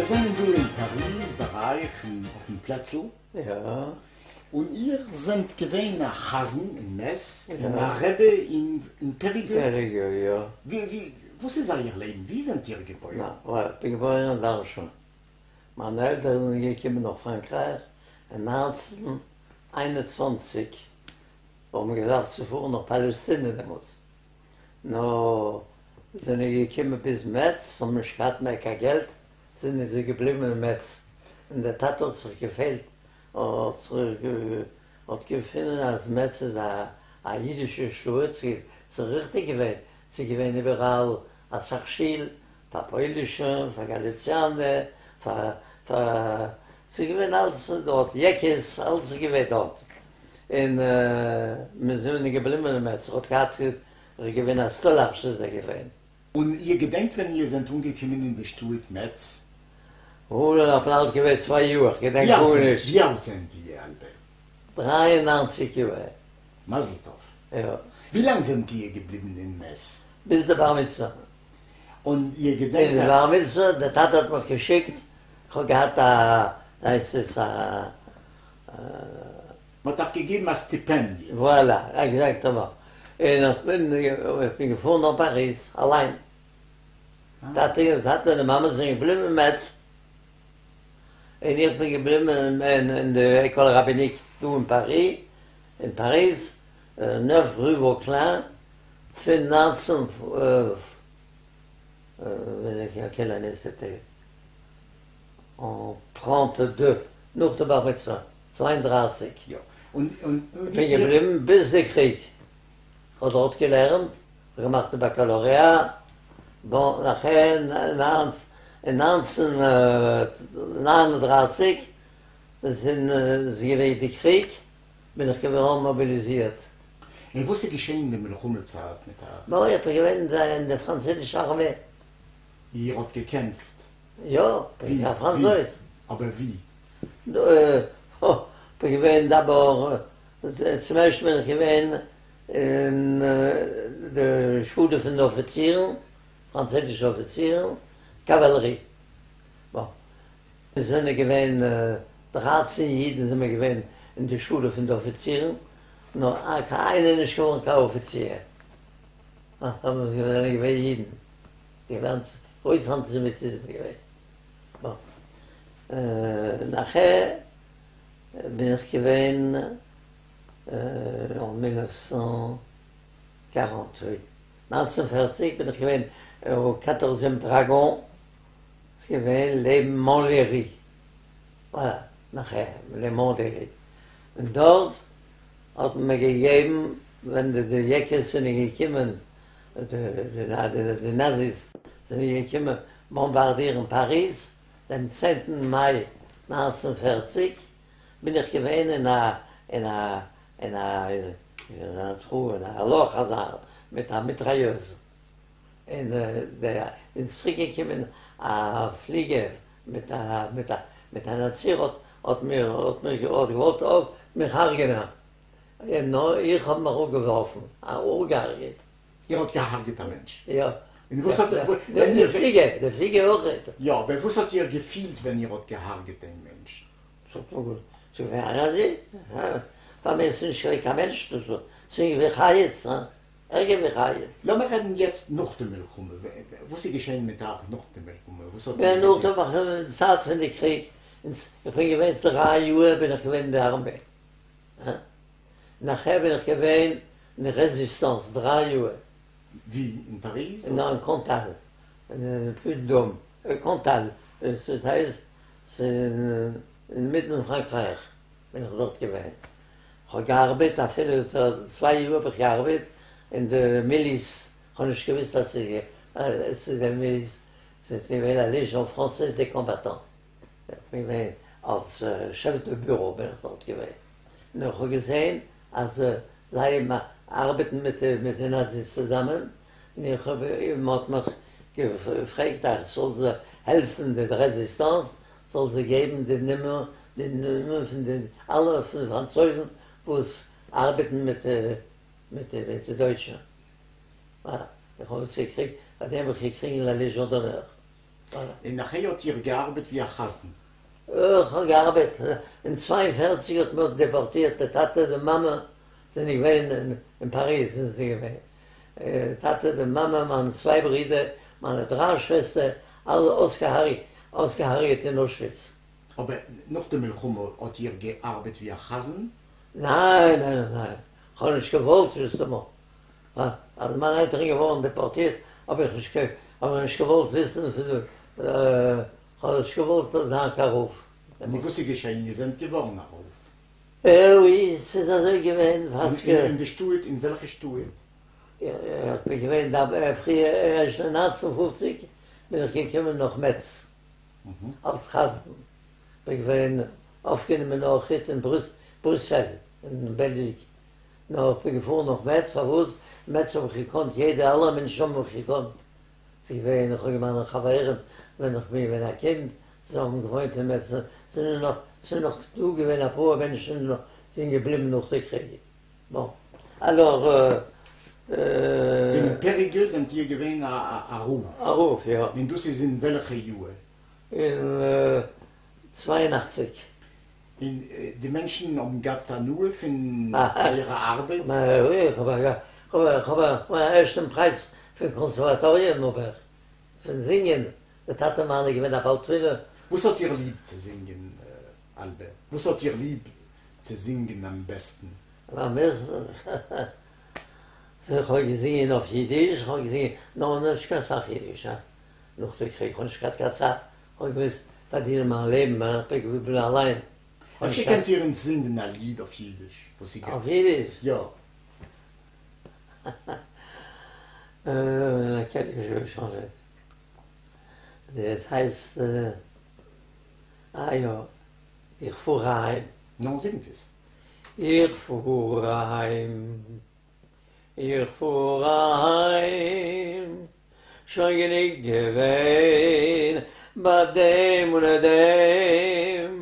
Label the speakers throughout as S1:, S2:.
S1: מיר זענען דא אין פאריז ביי אייך אויפן פלעצל.
S2: יא.
S1: און איר זענט געווען א חזן אין מעץ און א רבי אין פעריגו?
S2: פעריגו, יא.
S1: ווי, וואס איז אייער לעבן? ווי זענט איר געבוירן?
S2: איך בין געבוירן אין ווארשא. מיינע עלטערן זענען געקומען נאך פראנקרייך אין 1921, האבן געדארפט צו פארן נאך פאלעסטינע דעמאלטס, נאר זענען געקומען ביז מעץ, האבן נישט געהאט מער קיין געלט, זענען זיי געבליבן אין מעץ, און דער טאטע האט זיך געפעלט, האט געפונען אז מעץ איז א אידישע שטאט, ס'איז ריכטיג געווען, ס'איז געווען איבעראל אסאך שיל, פאר פוילישע, פאר גאליציאנע, פאר פאר, ס'איז געווען אלץ דארט, יעקעס, אלץ איז געווען דארט, און מיר זענען געבליבן אין מעץ, ער האט געהאט, ער איז געווען א סטאלארש איז ער געווען.
S1: און איר געדענקט ווען איר זענט אנגעקומען אין די שטאט מעץ?
S2: אוי, איך בין אלט געווען צוויי יאר, איך געדענק גארנישט.
S1: ווי אלט זענט איר, אלבער?
S2: 93 יאר.
S1: מזל טוב.
S2: יא.
S1: ווי לאנג זענט איר געבליבן אין מעץ?
S2: ביז די בר מצוה.
S1: און איר געדענקט
S2: א. די בר מצוה, דער טאטע האט מיך געשיקט, איך האב געהאט א, הייסט עס א.
S1: מ'האט אייך געגעבן א סטיפענדיע.
S2: וואלא, עקזעקטעמאן. און איך בין, איך בין געפארן נאך פאריז אליין. טאטע טאטע און די מאמע זענען געבליבן אין מעץ, און איך בין געבליבן אין די École Rabbinique דא אין פארי, אין פאריז, neuf rue Vauquelin, פון 19 quelle année c'était? En 32, נאך די בר מצוה, 32.
S1: יא, און און.
S2: כ'בין געבליבן ביז די קריג, כ'האב דארט געלערנט, כ'האב געמאכט די באקאלאריאט, bon, נאכער אין 1939 איז געווען די קריג, בין איך געווארן מאביליזירט.
S1: און וואס איז געשען אין די מלחמה צייט מיט אייך?
S2: bon, איך בין געווען אין די פראנצויזישע ארמעי.
S1: איר האט געקעמפט?
S2: יא, כ'בין א פראנצויז.
S1: אבער ווי?
S2: כ'בין געווען d'abord, צום ערשט בין איך געווען אין די שולע פון די אפיצירן, פראנצויזישע אפיצירן, קאוואלערי. bon, מיר זענען געווען 13 אידן זענען מיר געווען אין די שולע פון די אפיצירן, נאר קיין איינער איז נישט געווארן קיין אפיציר. זענען געווען אידן, געווען גרויס אנטיסעמיטיזם געווען. bon, נאכער בין איך געווען אין mille neuf cent quarante, 1940 בין איך געווען אין quatorzième dragons, ס'איז געווען לעבן מאנלערי, voilà, נאכער לעבן מאנלערי, און דארט האט מען מיר געגעבן ווען די יעקעס זענען געקומען, די נאזיס זענען געקומען באמבארדירן פאריז דעם צענטן מאי 1940, בין איך געווען אין א אין א אין א אין א לאך אזא מיט א מיטראיעז, און איז צוריק געקומען א פליגער מיט א מיט א מיט א נאצי האט האט מיר האט מיר האט געוואלט מיך הרג'נען, און נאר איך האב מיך אפגעווארפן, אפגעהרג'עט.
S1: איר האט געהארגעט א מענטש?
S2: יא.
S1: און וואס האט
S2: די פליגער, די פליגער אויכעט.
S1: יא, אבער וואס האט איר געפילט ווען איר האט געהארגעט דעם מענטש?
S2: ס'איז געווען א נאצי, פאר מיר איז נישט געווען קיין מענטש, דאס איז געווען חיות, ערגער ווי חיות.
S1: לאמיר רעדן יעצט נאך די מלחמה, וואס איז געשען מיט אייך נאך די מלחמה? וואס האט
S2: איר געטון? נאך די צייט פון די קריג, איך בין געווען דריי יאר בין איך געווען אין די ארמעי, נאכער בין איך געווען אין די רעזיסטאנס דריי יאר.
S1: ווי? אין פאריז?
S2: ניין, אין קאנטאל, אין Puy-de-Dôme, קאנטאל, ס'הייסט ס'איז אינמיטן פראנקרייך בין איך דארט געווען, כ'האב געארבעט אפילו צוויי יאר האב איך געארבעט אין די מיליס, כ'האב נישט געוויסט אז ס'איז די מיליס, ס'איז געווען א Légion française des combattants, איך בין געווען אלס chef de bureau בין איך דארט געווען, און איך האב געזען אז זיי ארבעטן מיט די נאזיס צוזאמען, און איך האב, מען האט מיך געפרעגט אז איך זאל זיי העלפן די רעזיסטאנס, זאל זיי געבן די נומער, די נומער פון די אלע פון די פראנצויזן וואס ארבעטן מיט מיט די דויטשע. איך האב עס געקריגט, פאר דעם האב איך געקריגן La Légion d'honneur.
S1: און נאכהער האט איר געארבעט ווי א חזן?
S2: איך האב געארבעט, אין צוויי און פֿערציק האט מען דעפארטירט די טאטע די מאמע זענען געווען אין פאריז זענען זיי געווען, טאטע די מאמע מיינע צוויי ברידער מיינע דריי שוועסטער אלע אויסגעהארגעט אין אושוויץ.
S1: אבער נאך די מלחמה האט איר געארבעט ווי א חזן?
S2: ניין ניין ניין, כ'האב נישט געוואלט נישט אז מיינע עלטערן געווארן דעפארטירט האב איך נישט האב איך נישט געוואלט וויסן פון כ'האב נישט געוואלט זיין קיין רב.
S1: נו וואס איז געשען איר זענט געווארן א רב?
S2: אוי ס'איז אזוי געווען וואסקע.
S1: אין די שטאט? אין וועלכע שטאט?
S2: איך בין געווען דא פריער ערשט אין נײַנצן פֿופֿציק בין איך געקומען נאך מעץ אלס חזן בין געווען אויפגענומען אויכעט אין בריסעל אין בעלגיע נאר איך בין געפארן נאך מעץ פארוואס מעץ האב איך געקאנט יעדע אלע מענטשן האבן מיך געקאנט ס'איז געווען איך האב געמיינע חברים ווען איך בין געווען א קינד זיי האבן געוואוינט אין מעץ זענען נאך ס'איז נאך דא געווען אפאר מענטשן נאך זענען געבליבן נאך די קריג bon alors.
S1: אין פעריגע זענט איר געווען א רב?
S2: א רב יא.
S1: און דאס איז אין וועלכע יאר?
S2: אין צוויי און אַכציק.
S1: און די מענטשן האבן געהאט הנאה פון אייערע ארבעט?
S2: איך האב א ערשטן פרייז פון קאנסערוואטאריע אבער פון זינגען, די טאטע מיינע איז געווען א בעל תפילה.
S1: וואס האט איר ליב צו זינגען אלבער? וואס האט איר ליב צו זינגען אמבעסטן?
S2: איך האב געזינגען אויף אידיש, איך האב געזינגען נאר נישט קיין סאך אידיש, נאך די קריג, כ'האב נישט געהאט קיין צייט, כ'האב געמוזט פארדינען מיין לעבן, איך בין געבליבן אליין.
S1: אפשר קענט איר אונז זינגען א ליד אויף אידיש? וואס איר
S2: אויף אידיש?
S1: יא.
S2: דאס הייסט, אה יא, איך פאר אהיים.
S1: נו, זינגט עס.
S2: איך פאר אהיים. איך פאר אהיים, שוין גענוג געווען ביי דעם און דעם,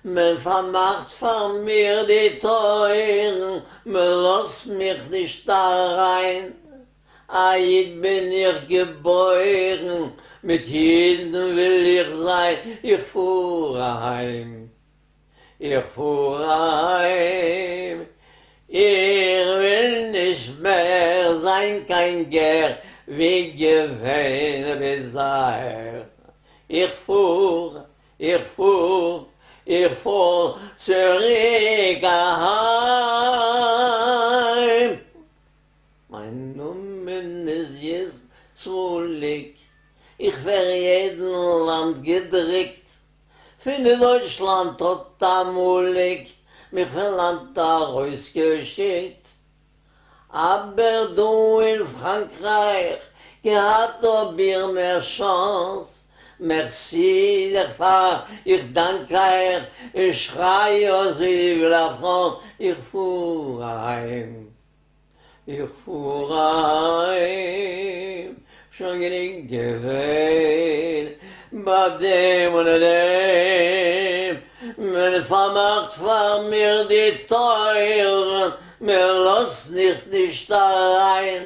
S2: מען פארמאכט פאר מיר די טויערן, מען לאזט מיך נישט אריין, א איד בין איך געבוירן, מיט אידן וויל איך זיין, איך פאר אהיים. איך פאר אהיים, איך וויל נישט מער זיין קיין גר ווי געווען ביז אהער, איך פאר, איך פאר, איך פאר צוריק אהיים. מיין נאמען איז ישׂראליק, איך ווער אין יעדן לאנד געדריקט, פון דויטשלאנד האט עמלק מיך פון לאנד ארויסגעשיקט, אבער דא אין פראנקרייך געהאט האב איך מער chance, merci דערפאר איך דאנק אייך און שריי אויס vive la France, איך פאר אהיים. איך פאר אהיים, שוין גענוג געווען ביי דעם און דעם, מען פארמאכט פאר מיר די טויערן, מען לאזט מיך נישט אריין,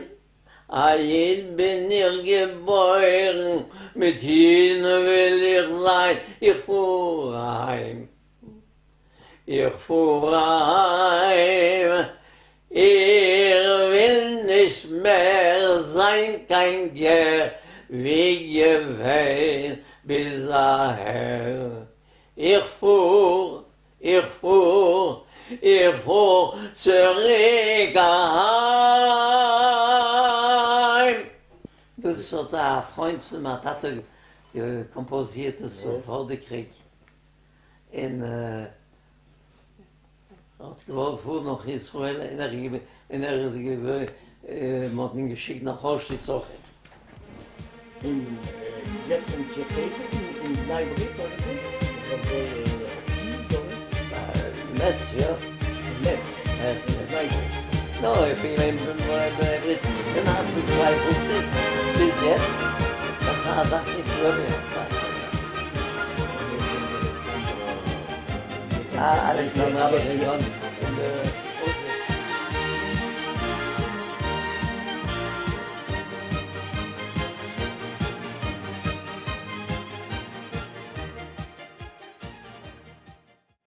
S2: א איד בין איך געבוירן, מיט אידן וויל איך זיין, איך פאר אהיים. איך פאר אהיים, איך וויל נישט מער זיין קיין גר ווי געווען ביז אהער, איך פאר, איך פאר, איך פאר צוריק אהיים. דאס האט א פריינט פון מיין טאטע קאמפאזירט דאס פאר די קריג. און ער האט געוואלט פארן נאך ישראל און ער און ער איז געווען מען האט אים געשיקט נאך אוישוויץ אויכעט.
S1: און יעצט זענט איר טעטיג אין בני ברית אדער ניט? איר זענט זייער אקטיוו דארט?
S2: מעץ יא.
S1: אין מעץ?
S2: מעץ יא.
S1: אין בני ברית?
S2: נא, איך בין געווען אין בני ברית פון נײַנצן צוויי און פֿופֿציק ביז יעצט, פאר צוויי און זעכציק יאר. אלעקסאנדראווע ראיאן.